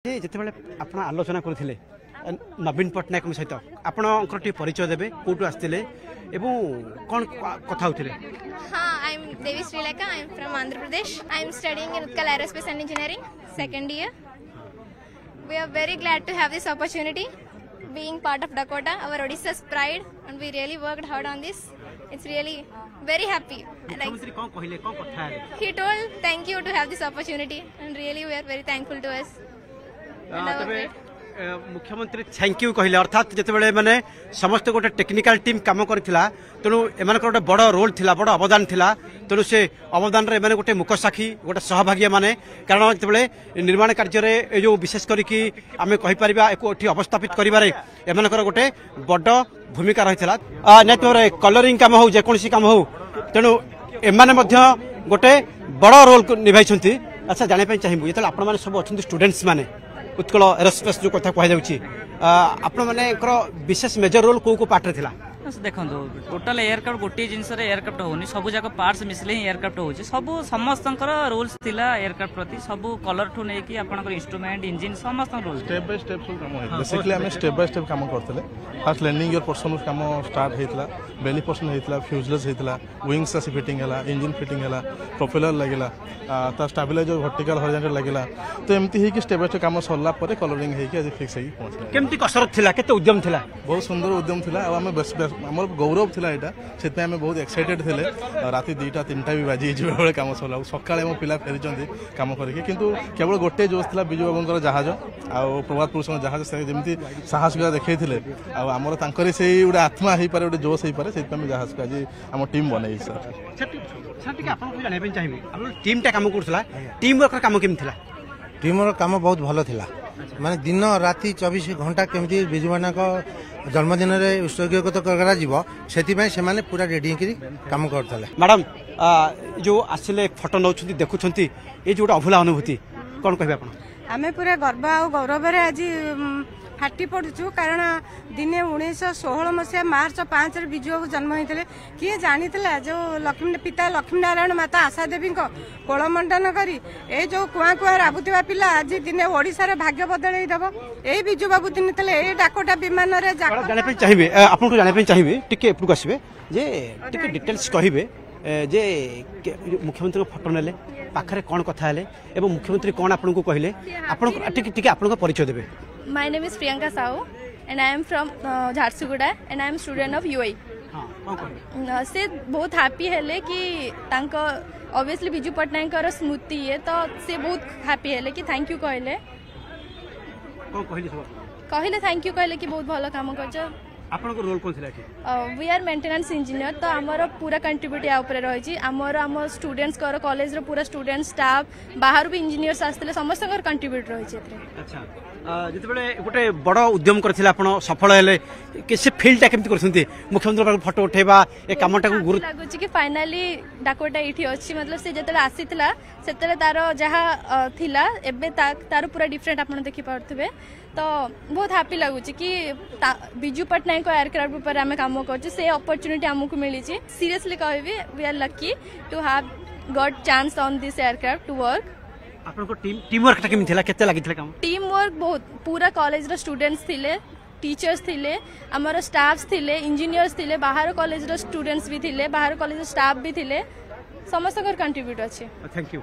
ଯେତେବେଳେ ଆପଣ ଆଲୋଚନା କରୁଥିଲେ ନବୀନ ପଟ୍ଟନାୟକଙ୍କ ସହିତ, ଆପଣଙ୍କର ଟିକେ ପରିଚୟ ଦେବେ, କୋଉଠୁ ଆସିଥିଲେ ଏବଂ କ'ଣ କଥା ହେଉଥିଲେ? ହଁ, I am Devi Srilekha. I am from Andhra Pradesh. I am studying in Utkal Aerospace and Engineering, second year. We are very glad to have this opportunity, being part of Dakota, our Odisha's pride, and we really worked hard on this. It's really very happy. Like, ମୁଖ୍ୟମନ୍ତ୍ରୀ କ'ଣ କହିଲେ, କ'ଣ କଥା ହେଲେ? He told thank you to have this opportunity, and really we are very thankful to us. And our ତେବେ great- ମୁଖ୍ୟମନ୍ତ୍ରୀ thank you କହିଲେ, ଅର୍ଥାତ୍ ଯେତେବେଳେ ମାନେ ସମସ୍ତେ ଗୋଟେ ଟେକ୍ନିକାଲ ଟିମ୍ କାମ କରିଥିଲା, ତେଣୁ ଏମାନଙ୍କର ଗୋଟେ ବଡ଼ ରୋଲ୍ ଥିଲା, ବଡ଼ ଅବଦାନ ଥିଲା। ତେଣୁ ସେ ଅବଦାନରେ ଏମାନେ ଗୋଟେ ମୁଖସାକ୍ଷୀ, ଗୋଟେ ସହଭାଗୀ ମାନେ, କାରଣ ଯେତେବେଳେ ନିର୍ମାଣ କାର୍ଯ୍ୟରେ ଏ ଯେଉଁ ବିଶେଷ କରିକି ଆମେ କହିପାରିବା ଏକୁ ଏଠି ଅବସ୍ଥାପିତ କରିବାରେ ଏମାନଙ୍କର ଗୋଟେ ବଡ଼ ଭୂମିକା ରହିଥିଲା। ନିହାତି ଭାବରେ କଲରିଂ କାମ ହଉ, ଯେକୌଣସି କାମ ହଉ, ତେଣୁ ଏମାନେ ମଧ୍ୟ ଗୋଟେ ବଡ଼ ରୋଲ୍ ନିଭାଇଛନ୍ତି। ଆଚ୍ଛା, ଜାଣିବା ପାଇଁ ଚାହିଁବୁ, ଯେତେବେଳେ ଆପଣମାନେ ସବୁ ଅଛନ୍ତି ଷ୍ଟୁଡେଣ୍ଟସ୍ ମାନେ, ଉତ୍କଳ ଏରୋସ୍ପେସ୍ ଯେଉଁ କଥା କୁହାଯାଉଛି, ଆପଣମାନଙ୍କର ବିଶେଷ ମେଜର ରୋଲ୍ କୋଉ କୋଉ ପାର୍ଟରେ ଥିଲା? ଦେଖନ୍ତୁ, ଟୋଟାଲ ଏୟାରକ୍ରାଫ୍ଟ ଗୋଟିଏ ଜିନିଷରେ ଏୟାରକ୍ରାଫ୍ଟ ହଉନି, ସବୁ ଯାକ ପାର୍ଟସ ମିଶିଲେ ହିଁ ଏୟାରକ୍ରାଫ୍ଟ ହଉଛି। ସବୁ ସମସ୍ତଙ୍କର ରୋଲ୍ସ ଥିଲା ଏୟାରକ୍ରାଫ୍ଟ ପ୍ରତି, ସବୁ କଲରଠୁ ନେଇକି ଆପଣଙ୍କର ଇନଷ୍ଟ୍ରୁମେଣ୍ଟ, ଇଞ୍ଜିନ୍, ସମସ୍ତଙ୍କ ରୋଲ୍। ଷ୍ଟେପ୍ ବାଇ ଷ୍ଟେପ୍ ସବୁ କାମ ହେଇଥିଲା। ବେସିକଲି ଆମେ ଷ୍ଟେପ୍ ବାଇ ଷ୍ଟେପ୍ କାମ କରିଥିଲେ। ଫାର୍ଷ୍ଟ ଲ୍ୟାଣ୍ଡିଂ ଗିୟର ପୋର୍ସନରୁ କାମ ଷ୍ଟାର୍ଟ ହେଇଥିଲା, ବେଲି ପୋର୍ସନ ହେଇଥିଲା, ଫ୍ୟୁଜଲେଜ୍ ହେଇଥିଲା, ୱିଙ୍ଗସ୍ ଆସି ଫିଟିଂ ହେଲା, ଇଞ୍ଜିନ୍ ଫିଟିଂ ହେଲା, ପ୍ରୋପେଲର ଲାଗିଲା, ତା ଷ୍ଟାବିଲାଇଜର ଭର୍ଟିକାଲ ହରିଜେଣ୍ଟାଲ ଲାଗିଲା। ତ ଏମିତି ହେଇକି ଷ୍ଟେପ୍ ବାଇ ଷ୍ଟେପ୍ କାମ ସରିଲା ପରେ କଲରିଂ ହେଇକି ଆଜି ଫିକ୍ସ ହେଇକି ପହଞ୍ଚିଲା। କେମିତି କସରତ ଥିଲା, କେତେ ଉଦ୍ୟମ ଥିଲା? ବହୁତ ସୁନ୍ଦର ଉଦ୍ୟମ ଥିଲା ଆଉ ଆମେ ଆମର ଗୌରବ ଥିଲା ଏଇଟା, ସେଥିପାଇଁ ଆମେ ବହୁତ ଏକ୍ସାଇଟେଡ୍ ଥିଲେ। ରାତି 2ଟା 3ଟା ବି ବାଜି ହେଇଯିବ ବେଳେ କାମ ସରିଲା। ଆଉ ସକାଳେ ମୋ ପିଲା ଫେରିଛନ୍ତି କାମ କରିକି, କିନ୍ତୁ କେବଳ ଗୋଟେ ଜୋସ୍ ଥିଲା, ବିଜୁ ବାବୁଙ୍କର ଜାହାଜ ଆଉ ପ୍ରବାଦ ପୁରୁଷଙ୍କ ଜାହାଜ, ସେ ଯେମିତି ସାହସିକତା ଦେଖେଇଥିଲେ ଆଉ ଆମର ତାଙ୍କରି ସେଇ ଗୋଟେ ଆତ୍ମା ହେଇପାରେ, ଗୋଟେ ଜୋସ୍ ହେଇପାରେ, ସେଇଥିପାଇଁ ଆମେ ଜାହାଜକୁ ଆଜି ଆମ ଟିମ୍ ବନେଇଛି ସାର୍। ସାର୍, ଟିକେ ଆପଣଙ୍କୁ ଜାଣିବା ପାଇଁ ଚାହିଁବି, ଆପଣଙ୍କ ଟିମ୍ଟା କାମ କରୁଥିଲା, ଟିମ୍ ୱାର୍କର କାମ କେମିତି ଥିଲା? ଟିମ୍ର କାମ ବହୁତ ଭଲ ଥିଲା। ମାନେ ଦିନ ରାତି 24 ଘଣ୍ଟା କେମିତି ବିଜୁ ପଟ୍ଟନାୟକ ଜନ୍ମଦିନରେ ଉତ୍ସର୍ଗୀକୃତ କରାଯିବ, ସେଥିପାଇଁ ସେମାନେ ପୁରା ରେଡି ହେଇକିରି କାମ କରୁଥିଲେ। ମ୍ୟାଡ଼ାମ, ଯେଉଁ ଆସିଲେ, ଫଟୋ ନେଉଛନ୍ତି, ଦେଖୁଛନ୍ତି, ଏଇ ଯେଉଁ ଗୋଟେ ଅଭୁଲା ଅନୁଭୂତି, କ'ଣ କହିବେ ଆପଣ? ଆମେ ପୁରା ଗର୍ବ ଆଉ ଗୌରବରେ ଆଜି ଫାଟି ପଡୁଛୁ, କାରଣ ଦିନେ 1916 ମସିହା ମାର୍ଚ୍ଚ 5ରେ ବିଜୁ ବାବୁ ଜନ୍ମ ହେଇଥିଲେ। କିଏ ଜାଣିଥିଲା ଯୋଉ ଲକ୍ଷ୍ମୀ ପିତା ଲକ୍ଷ୍ମୀ ନାରାୟଣ, ମାତା ଆଶା ଦେବୀଙ୍କ କୋଳ ମଣ୍ଡନ କରି ଏଇ ଯୋଉ କୁଆଁ କୁଆଁ ରାବୁଥିବା ପିଲା ଆଜି ଦିନେ ଓଡ଼ିଶାର ଭାଗ୍ୟ ବଦଳେଇ ଦବ। ଏଇ ବିଜୁ ବାବୁ ଦିନେ ଥିଲେ ଏଇ ଡାକୋଟା ବିମାନରେ ମ୍ୟାଡ଼ାମ, ଜାଣିବା ପାଇଁ ଚାହିଁବି, ଆପଣଙ୍କୁ ଜାଣିବା ପାଇଁ ଚାହିଁବି, ଟିକେ ଏପଟକୁ ଆସିବେ ଯେ ଟିକେ ଡିଟେଲ୍ସ କହିବେ ଯେ ମୁଖ୍ୟମନ୍ତ୍ରୀଙ୍କ ଫଟୋ ନେଲେ, ପାଖରେ କ'ଣ କଥା ହେଲେ ଏବଂ ମୁଖ୍ୟମନ୍ତ୍ରୀ କ'ଣ ଆପଣଙ୍କୁ କହିଲେ? ଆପଣ ଟିକେ ଟିକେ ଆପଣଙ୍କ ପରିଚୟ ଦେବେ। My name is Priyanka Sahu and I am from Jharsuguda and I am student of UAE. ହଁ, କ'ଣ କହିଲେ? ସେ ବହୁତ ହାପି ହେଲେ କି ତାଙ୍କ ଅବଭିୟସଲି ବିଜୁ ପଟ୍ଟନାୟକଙ୍କର ସ୍ମୃତି ଇଏ ତ, ସେ ବହୁତ ହାପି ହେଲେ କି thank you କହିଲେ। କ'ଣ କହିଲେ ସବୁ? କହିଲେ thank you କହିଲେ କି ବହୁତ ଭଲ କାମ କରିଛ। ଆପଣଙ୍କ ରୋଲ୍ କ'ଣ ଥିଲା ଏଠି? We are maintenance engineer, ତ ଆମର ପୁରା କଣ୍ଟ୍ରିବ୍ୟୁଟ୍ ୟା ଉପରେ ରହିଛି। ଆମର ଆମ ଷ୍ଟୁଡେଣ୍ଟସ୍ଙ୍କର, କଲେଜର ପୁରା ଷ୍ଟୁଡେଣ୍ଟ, ଷ୍ଟାଫ୍, ବାହାରୁ ବି ଇଞ୍ଜିନିୟର୍ସ ଆସିଥିଲେ, ସମସ୍ତଙ୍କର କଣ୍ଟ୍ରିବ୍ୟୁଟ୍ ରହିଛି ଏଥିରେ। ଆଚ୍ଛା, ଯେତେବେଳେ ଗୋଟେ ବଡ଼ ଉଦ୍ୟମ କରିଥିଲେ, ଆପଣ ସଫଳ ହେଲେ କି ସେ ଫିଲ୍ଡଟା କେମିତି କରୁଛନ୍ତି, ମୁଖ୍ୟମନ୍ତ୍ରୀ ପାଖକୁ ଫଟୋ ଉଠେଇବା ଏ କାମଟାକୁ ଗୁରୁ ଲାଗୁଛି କି ଫାଇନାଲି ଡାକୋଟା ଏଇଠି ଅଛି। ମତଲବ ସେ ଯେତେବେଳେ ଆସିଥିଲା ସେତେବେଳେ ତାର ଯାହା ଥିଲା, ଏବେ ତାର ପୁରା ଡିଫରେଣ୍ଟ ଆପଣ ଦେଖିପାରୁଥିବେ। ତ ବହୁତ ହାପି ଲାଗୁଛି କି ବିଜୁ ପଟ୍ଟନାୟକଙ୍କ ଏୟାରକ୍ରାଫ୍ଟ ଉପରେ ଆମେ କାମ କରୁଛୁ, ସେ ଅପରଚ୍ୟୁନିଟି ଆମକୁ ମିଳିଛି। ସିରିୟସଲି କହିବି, we are lucky to have got chance on this aircraft to work. ଆପଣଙ୍କ ଟିମ୍ ୱାର୍କଟା କେମିତି ଥିଲା, କେତେ ଲାଗିଥିଲା କାମ? ଟିମ୍ ୱାର୍କ ବହୁତ, ପୁରା କଲେଜର ଷ୍ଟୁଡେଣ୍ଟସ୍ ଥିଲେ, ଟିଚର୍ସ ଥିଲେ, ଆମର ଷ୍ଟାଫ୍ସ ଥିଲେ, ଇଞ୍ଜିନିୟର୍ସ ଥିଲେ, ବାହାର କଲେଜର ଷ୍ଟୁଡେଣ୍ଟସ୍ ବି ଥିଲେ, ବାହାର କଲେଜର ଷ୍ଟାଫ୍ ବି ଥିଲେ, ସମସ୍ତଙ୍କର କଣ୍ଟ୍ରିବ୍ୟୁଟ୍ ଅଛି। Thank you.